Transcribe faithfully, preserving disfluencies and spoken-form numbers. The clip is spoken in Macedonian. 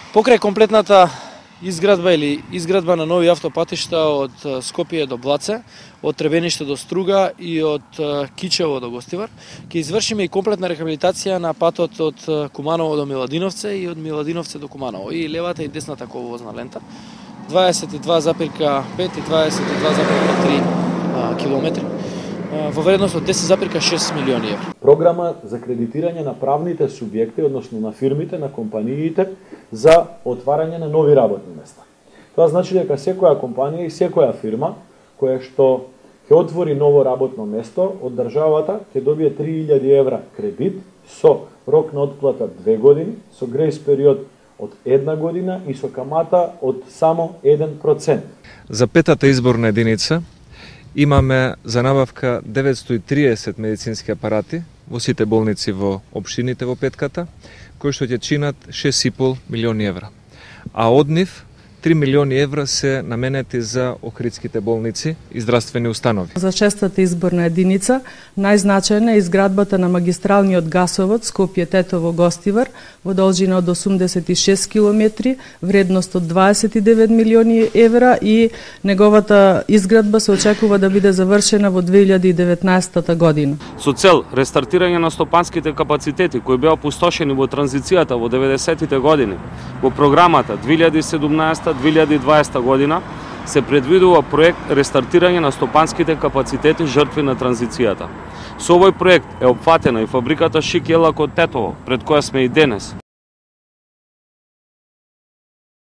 Покрај комплетната изградба или изградба на нови автопатишта од Скопје до Блаце, од Требениште до Струга и од Кичево до Гостивар, ќе извршиме и комплетна рехабилитација на патот од Куманово до Миладиновце и од Миладиновце до Куманово, и левата и десната коловозна лента, дваесет и два запир пет и дваесет и два запир три километри, во вредност од десет запир шест милиони евра. Програма за кредитирање на правните субјекти, односно на фирмите, на компаниите, за отварање на нови работни места. Тоа значи дека секоја компанија и секоја фирма која што ќе отвори ново работно место од државата ќе добие три илјади евра кредит со рок на отплата две години, со грејс период од една година и со камата од само еден процент. За петата изборна единица имаме за набавка деветстотини и триесет медицински апарати во сите болници во општините во петката, кои што ќе чинат шест и пол милиони евра. А од нив три милиони евра се наменети за охридските болници и здравствени установи. За шестата изборна единица најзначајна е изградбата на магистралниот гасовод Скопје-Тетово-Гостивар во должина од осумдесет и шест километри, вредност од дваесет и девет милиони евра, и неговата изградба се очекува да биде завршена во две илјади и деветнаесетта година. Со цел рестартирање на стопанските капацитети кои беа опустошени во транзицијата во деветдесетите години, во програмата две илјади и седумнаесета две илјади и дваесета година се предвидува проект рестартирање на стопанските капацитети жртви на транзицијата. Со овој проект е опфатена и фабриката Шик Елак од Тетово, пред која сме и денес.